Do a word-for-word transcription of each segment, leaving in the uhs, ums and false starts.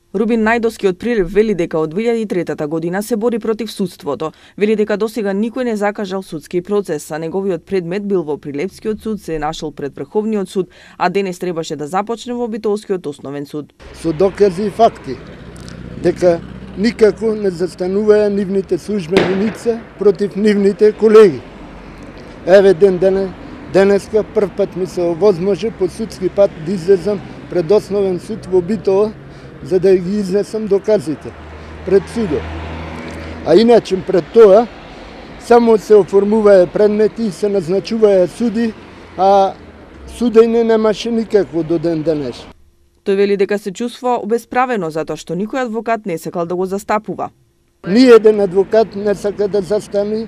Рубин Најдовски од Прилеп вели дека од две илјади и трета година се бори против судството. Вели дека досега никој не закажал судски процес, а неговиот предмет бил во Прилепскиот суд, се нашол пред Врховниот суд, а денес требаше да започне во Битолскиот основен суд. Со докази и факти дека никако не застануваа нивните службени лица против нивните колеги. Еве ден денес, денеска прв пат ми се овозможи по судски пат да излезам пред основен суд во Битола, за да ги изнесам доказите пред судот. А иначе пред тоа само се оформуваа предмети и се назначуваа суди, а судење немаше никакво до ден денес. Тој вели дека се чувствува обесправено затоа што никој адвокат не сакал да го застапува. Ни еден адвокат не сака да застане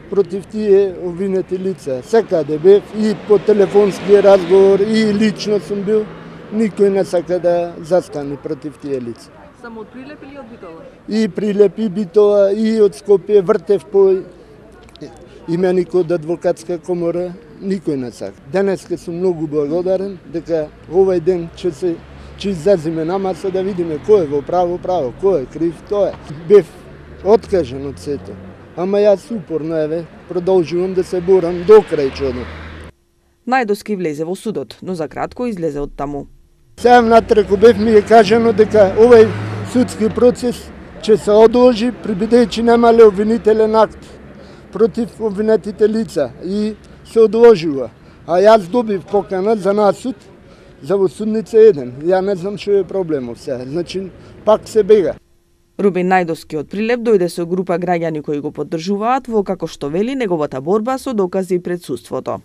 против тие обвинети лица. Секаде бев и по телефонски разговор и лично сум бил. Никој не сака да застане против тие лица. Само од Прилеп или од Битола? И Прилеп, и Битола, и од Скопје, вртев по именик од адвокатска комора, никој не сака. Денеска сум многу благодарен дека овој ден ќе се ќе излеземе на маса да видиме кој е во право право, кој е крив, тоа е. Бев откажен од сето, ама јас упорно еве продолжувам да се борам до крај чудо. Најдовски влезе во судот, но за кратко излезе од таму. Сега натреку бев ми е кажано дека овој судски процес ќе се одложи бидејќи немале обвинителен акт против обвинетите лица и се одложува. А јас добив покана за насуд за во судница еден. Ја не знам што е проблемот сега. Значи пак се бега. Рубин Најдовски од Прилеп дојде со група граѓани кои го поддржуваат во, како што вели, неговата борба со докази пред судството.